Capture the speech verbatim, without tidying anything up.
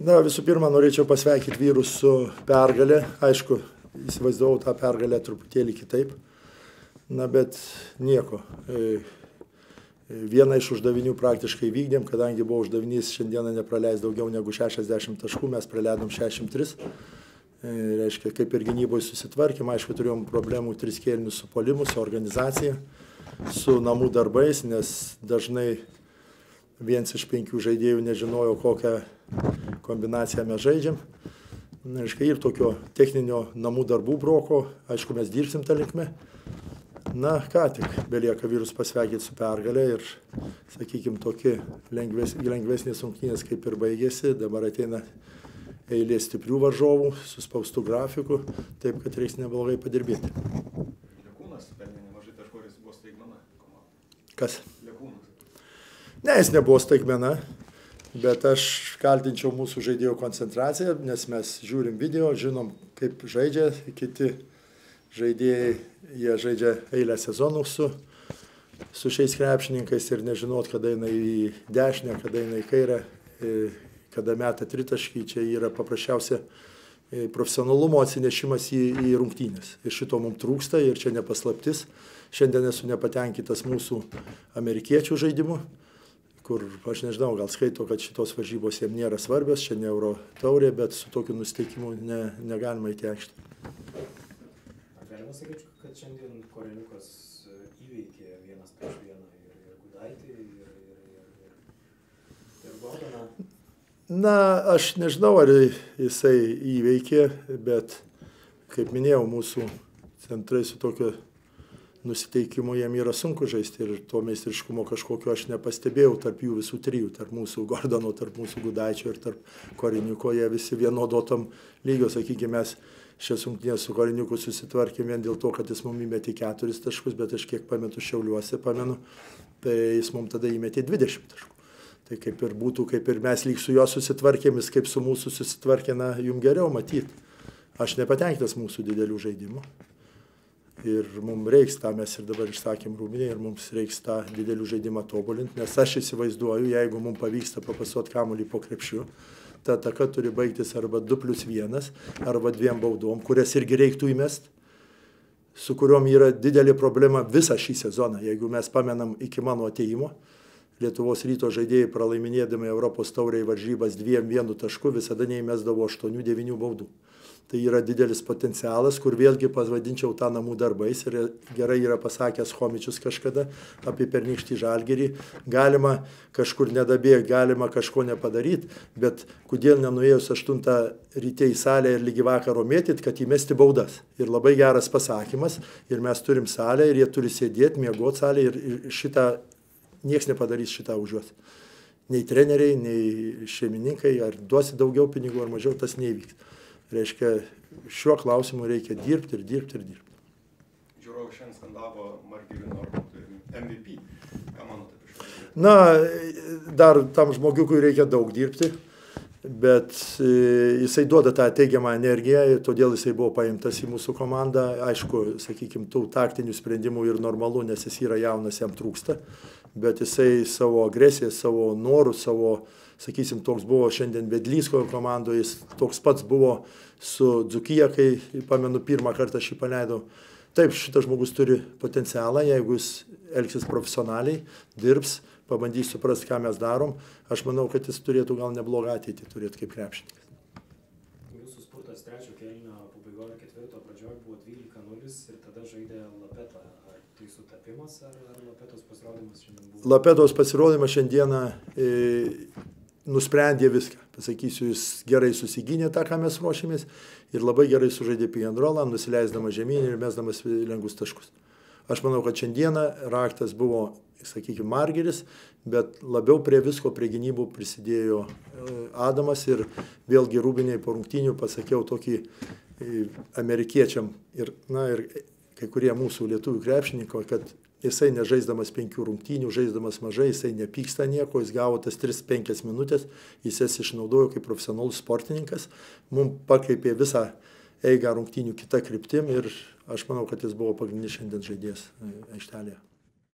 Na, visų pirma, norėčiau pasveikinti vyrus su pergalė. Aišku, įsivaizdavau tą pergalę truputėlį kitaip. Na, bet nieko. Vieną iš uždavinių praktiškai vykdėm, kadangi buvo uždavinys šiandieną nepraleis daugiau negu šešiasdešimt taškų, mes praleidom šešiasdešimt tris. Reiškia, kaip ir gynyboje susitvarkėm, aišku, turėjom problemų tris kėlinius su puolimu, su organizacija, su namų darbais, nes dažnai viens iš penkių žaidėjų nežinojo, kokią kombinaciją mes žaidžiam. Reiškia, ir tokio techninio namų darbų broko, aišku, mes dirbsim tą linkmę. Na, ką tik, belieka vyrus pasveikinti su pergalė ir, sakykime, tokie lengves, lengvesnės rungtynės kaip ir baigėsi, dabar ateina eilė stiprių varžovų, suspaustu grafiku, taip, kad reiks neblogai padirbėti. Lekūnas pelnė nemažai taškų, jis buvo staigmena komanda. Kas? Lekūnas. Ne, jis nebuvo staigmena, bet aš kaltinčiau mūsų žaidėjų koncentraciją, nes mes žiūrim video, žinom, kaip žaidžia kiti žaidėjai, jie žaidžia eilę sezonų su, su šiais krepšininkais ir nežinot, kada eina į dešinę, kada eina į kairę, kada meta tritaškį, čia yra paprasčiausia profesionalumo atsinešimas į, į rungtynės. Ir šito mums trūksta ir čia nepaslaptis. Šiandien esu nepatenkintas mūsų amerikiečių žaidimu, kur, aš nežinau, gal skaito, kad šitos varžybos jiems nėra svarbios, čia ne Euro taurė, bet su tokiu nusiteikimu ne, negalima įti aikštę. Galima sakyti, kad šiandien Koreniukas įveikė vienas prieš vieną ir, ir Gudaitį, ir, ir, ir, ir, ir Gordoną. Na, aš nežinau, ar jisai įveikė, bet, kaip minėjau, mūsų centrai su tokiu nusiteikimu jiem yra sunku žaisti ir to meistriškumo kažkokio aš nepastebėjau tarp jų visų trijų, tarp mūsų Gordono, tarp mūsų Gudaičio ir tarp Koreniuko, jie visi vienodotam lygio, sakykime, mes šias rungtynes su Koreniuku susitvarkėm vien dėl to, kad jis mums įmetė keturis taškus, bet aš kiek pametu Šiauliuose, pamenu, tai jis mums tada įmetė dvidešimt taškų. Tai kaip ir būtų, kaip ir mes lyg su juo susitvarkėm, jis kaip su mūsų susitvarkė, na, jums geriau matyti. Aš nepatenkintas mūsų didelių žaidimų. Ir mums reiks tą, mes ir dabar išsakėm Rūbinė, ir mums reiks tą didelių žaidimą tobulinti, nes aš įsivaizduoju, jeigu mums pavyksta papasuoti kamuolį po krepšiu, ta ataka turi baigtis arba du plius vienas, arba dviem baudom, kurias irgi reiktų įmest, su kuriuom yra didelė problema visą šį sezoną. Jeigu mes pamenam iki mano ateimo, Lietuvos Ryto žaidėjai pralaiminėdami Europos taurėje varžybas dviem vienu tašku visada neįmesdavo aštuonių devynių baudų. Tai yra didelis potencialas, kur vėlgi pavadinčiau tą namų darbais ir gerai yra pasakęs Chomičius kažkada apie pernykštį Žalgirį. Galima kažkur nedabėgti, galima kažko nepadaryti, bet kodėl nenuėjus aštuntą ryte į salę ir lygi vakaro mėtyt, kad įmesti baudas. Ir labai geras pasakymas, ir mes turim salę, ir jie turi sėdėti, miegoti salę, ir, ir šitą, nieks nepadarys šitą už juos. Nei treneriai, nei šeimininkai, ar duosi daugiau pinigų, ar mažiau, tas neįvyks. Reiškia, šiuo klausimu reikia dirbti ir dirbti ir dirbti. Žiūrovai šiandien skandavo Margirį Normontui M V P. Ką manote apie šitą? Na, dar tam žmogiukui reikia daug dirbti, bet jisai duoda tą teigiamą energiją, todėl jisai buvo paimtas į mūsų komandą. Aišku, sakykime, tų taktinių sprendimų ir normalu, nes jis yra jaunas, jam trūksta, bet jisai savo agresiją, savo norų, savo, sakysim, toks buvo šiandien Vedlysko komandoje, jis toks pats buvo su Dzūkija, kai, pamenu, pirmą kartą šį paleidau. Taip, šitas žmogus turi potencialą, jeigu jis elgsis profesionaliai, dirbs, pabandys suprasti, ką mes darom. Aš manau, kad jis turėtų gal neblogą ateitį turėti kaip krepšininkas. Jūsų spurtas trečio kėlinio pabaigoje ketvirto pradžioje buvo dvylika nulis ir tada žaidė Lapeta. Ar tai sutapimas, ar, ar Lapetos pasirodymas šiandien buvo? Lapetos pasirodymas šiandieną e, nusprendė viską. Pasakysiu, jis gerai susigynė tą, ką mes ruošėmės, ir labai gerai sužaidė pick and rollą, nusileisdamas žemyn ir mesdamas lengvus taškus. Aš manau, kad šiandieną raktas buvo, sakykime, Margiris, bet labiau prie visko, prie gynybų prisidėjo Adamas, ir vėlgi Rūbiniai po rungtynių pasakiau tokį amerikiečiam ir, na, ir kai kurie mūsų lietuvių krepšininko, kad jisai nežaisdamas penkių rungtynių, žaisdamas mažai, jisai nepyksta nieko, jis gavo tas tris penkias minutės, jis jas išnaudojo kaip profesionalus sportininkas, mums pakreipė visą eigą rungtynių kitą kryptim ir aš manau, kad jis buvo pagrindinis šiandien žaidėjas aikštelėje.